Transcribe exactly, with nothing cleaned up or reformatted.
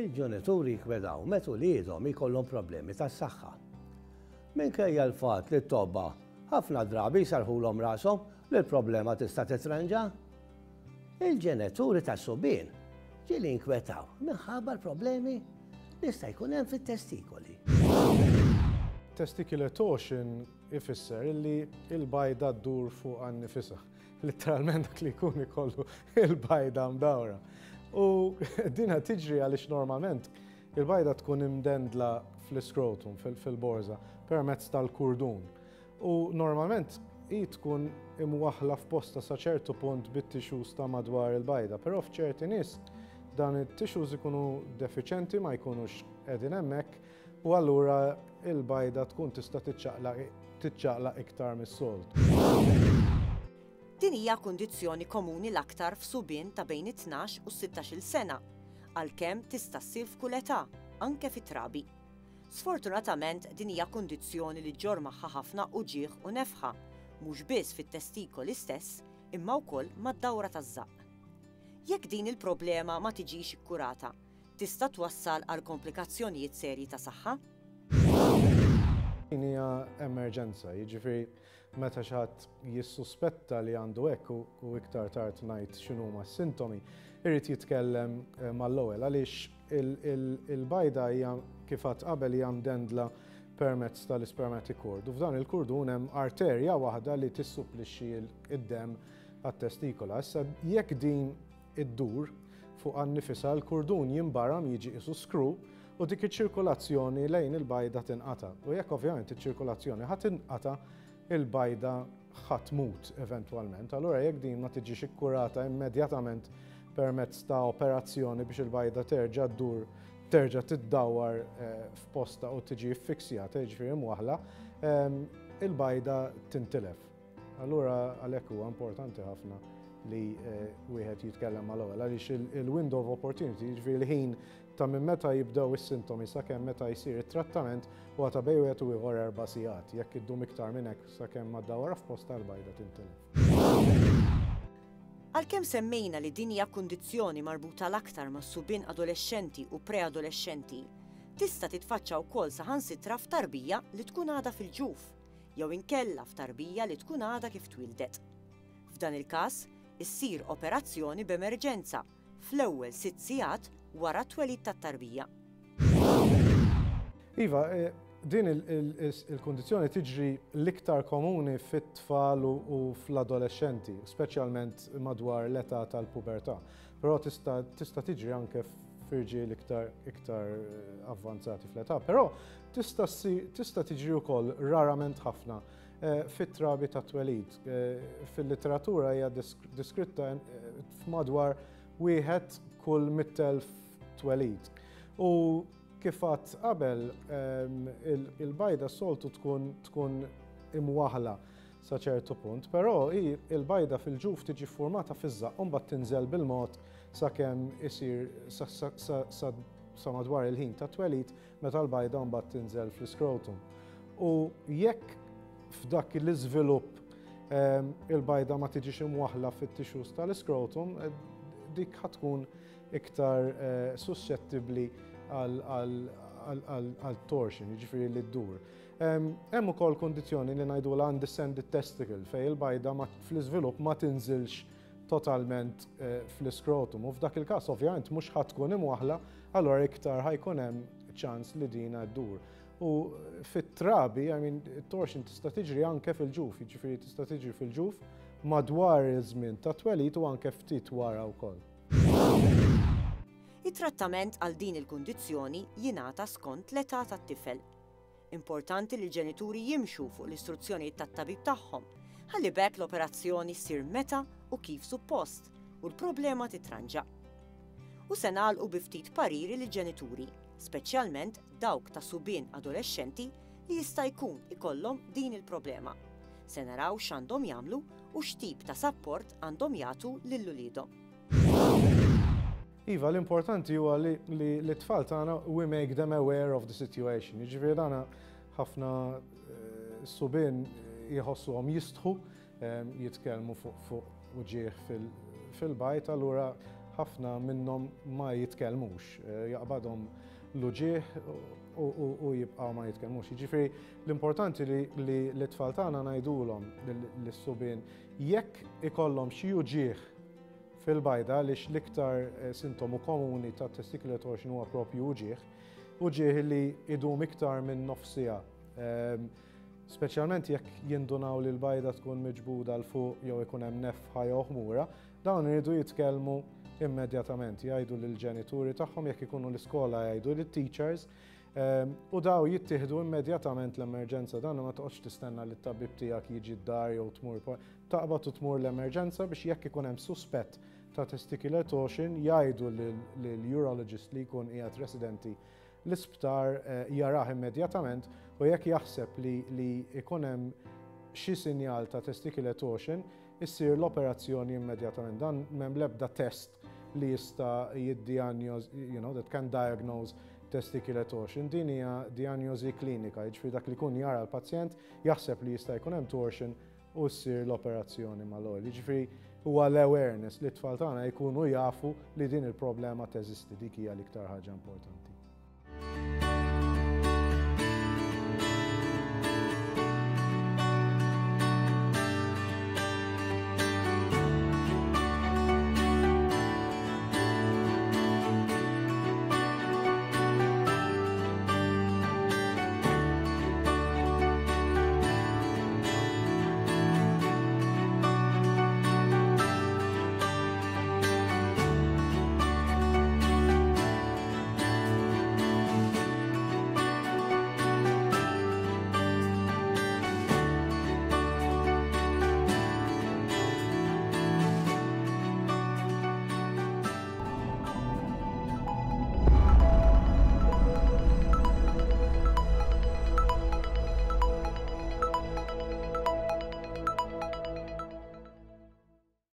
Il-ġenituri jinkwedaw meta uliedhom ikollhom problemi tas-saħħa. Minkejja l-fatt li t-tobba ħafna drabi jsarħulhom rashom li l-problema tista' titranġa. Il-ġenituri tas-subien ġieli jinkwetaw minħabba l-problemi li jista' jkun hemm fit-testikoli. Testicular torsion ifisser illi il-bajda ddur fuq nfisha. Literalment dak li jkun ikollu il-bajda mdawra. U dina tiġri għaliex normalment il-bajda tkun imdendla fl-iskrotum, fil-borza, permezz tal-kurdun. U normalment hi tkun imwaħla f'posta sa ċertu punt bit-tissues ta' madwar il-bajda, però f'ċerti nies dan it-tissues ikunu defiċenti, ma jkunux qegħdin hemmhekk, u allura il-bajda tkun tista' tiċċaqlaq iktar mis-soltu. Din hija kundizzjoni komuni l-aktar f'subien ta' bejn it-tnax u sittax-il sena, għalkemm tista' ssir f'kull età, anke fit-trabi. Sfortunatament, din hija kundizzjoni li ġġorr magħha ħafna uġigħ u nefħa, mhux biss fit-testikoli stess, imma wkoll mad-dawra taż-żaqq. Jekk din il-problema ma tiġix ikkurata, tista' twassal għal komplikazzjonijiet serji ta' saħħa. Din hija emerġenza, jiġifieri meta xi ħadd jissuspetta li għandu hekk, u iktar tard ngħid x'inhuma s-sintomi, irid jitkellem eh, mal-ewwel għaliex il-bajda hija, kif għedt qabel, hija mdendla permezz tal-spermatic cord. U f'dan il-kurdun hemm arterja waħda li tissupplixxi id-dem għat-testikola. Issa, jekk din iddur fuq nfisha, l-kurdun jimbaram, jiġi qisu screw, u dik iċ-ċirkolazzjoni lejn il-bajda tinqata. U jekk ovvjament iċ-ċirkolazzjoni ħa tinqata, il-bajda ħa tmut eventwalment. Allura jekk din ma tiġix ikkurata immedjatament permezz ta' operazzjoni biex il-bajda terġa' ddur, terġa' tiddawar eh, f'posta u tiġi ffiksjata, jiġifieri mwaħla, ehm, il-bajda tintilef. Allura għalhekk huwa importanti ħafna li eh, wieħed jitkellem mal-ewwel għaliex il-window of opportunity, jiġifieri l-ħin ta' minn meta jibdew is-sintomi sakemm meta jsir it-trattament, huwa ta' bejn wieħed u ieħor erba' sigħat. Jekk iddum iktar minn hekk sakemm ma ddawwar f'posta, l-bajda tintilef. Għalkemm semmejna li din hija kundizzjoni marbuta l-aktar ma' subien adolescenti u preadolescenti, tista' titfaċċa wkoll saħansitra f'tarbija li tkun għadha fil-ġuf jew inkella f'tarbija li tkun għadha kif twildet. F'dan il-każ, issir operazzjoni b'emerġenza fl-ewwel sitt sigħat wara t-twelid tat-tarbija. Iva, eh, din il-kondizjoni tiġri l-iktar komuni fit-tfal u fl-adolescenti, speċjalment madwar l-età tal-pubertà. Però tista' tiġri anke f'irġiel iktar iktar eh, avvanzati fl-età. Però tista' tiġri wkoll rarament ħafna eh, fit-trabi ta' twelid. Fil-literatura hija diskritta f'madwar wieħed kull mitt elf twelid. U kif għedt qabel, il-bajda soltu tkun tkun imwaħla sa ċertu punt, però il-bajda fil-ġuf tiġi formata fiż-żaqq u mbagħad tinżel bil-mod sakemm isir sa madwar il-ħin ta' twelid, meta l-bajda mbagħad tinżel fl-iskrotum. U jekk f'dak l-iżvilupp il-bajda ma tiġix imwaħla fit-tissues tal-iskrotum, dik ħa tkun iktar eh, suscettibbli għal torsion, jiġifieri li ddur. Hemm ukoll kondizzjoni li ngħidu l undescended testicle, fejn il-bajda fl-iżvilupp ma tinżilx totalment eh, fl-iskrotum. U f'dak il-każ ovvjament mhux ħa tkun imwaħla, allura iktar ħa jkun hemm ċans li dina ddur. U fit-trabi, I mean, torsion tista' tiġri anke fil-ġuf, jiġifieri tista' tiġri fil-ġuf madwar iż-żmien ta' twelid u anke ftit wara wkoll. It-trattament għal din il-kundizzjoni jingħata skont l-età tat-tifel. Importanti li l-ġenituri jimxu fuq l-istruzzjonijiet tat-tabib tagħhom, ħalli b'hekk l-operazzjoni ssir meta u kif suppost u l-problema titranġa. U se nagħlqu bi ftit pariri lill-ġenituri, speċjalment dawk ta' subien adolescenti li jista' jkun ikollhom din il-problema. Se naraw x'għandhom jagħmlu u x'tip ta' sapport għandhom jagħtu lil uliedhom. Iva, l-importanti huwa li l-tfal tagħna, we make them aware of the situation. Jiġifieri dana ħafna eh, subien jħossuhom jistħu eh, jitkellmu fuq uġigħ fil-bajd, allura Ħafna minnhom ma jitkellmux, eh, jaqbadhom l-uġigħ u jibqgħu ma jitkellmux. Jiġifieri l-importanti li l-tfal tagħna ngħidulhom lis-subien, jekk ikollhom xi uġigħ fil-bajda, għaliex l-iktar eh, sintomu komuni ta' testicular torsion huwa propju uġigħ, uġigħ li idum iktar minn nofs siegħa. Ehm, speċjalment jekk jindunaw li l-bajda tkun miġbuda 'l fuq jew ikun hemm nefħa jew ħmura, dawn iridu jitkellmu immedjatament, jgħidu lill-ġenituri tagħhom, jekk ikunu l-iskola jgħidu lit-teachers, ehm, u daw jittieħdu immedjatament l-emerġenza. Dan ma toqgħodx tistenna li t-tabib tiegħek jiġi d-dar jew tmur, taqbad u tmur l-emerġenza biex jekk ikun hemm suspett ta' testicular torsion jgħidu lill-urologist li jkun qiegħed residenti l-isptar, eh, jarah immedjatament u jekk jaħseb li, li ikun hemm xi sinjal ta' testicular torsion, issir l-operazzjoni immedjatament. Dan m'hemm l-ebda test li jista' jiddiagnoz, you know, that can diagnose testicular torsion. Din hija diagnosi klinika, jiġifieri dak li jkun jara l-pazjent, jaħseb li jista' jkun hemm torsion u ssir l-operazzjoni mal-ewwel. Jiġifieri huwa l-awareness li t-tfal tagħna jkunu jafu li din il-problema teżisti, dik hija l-iktar ħaġa importanti.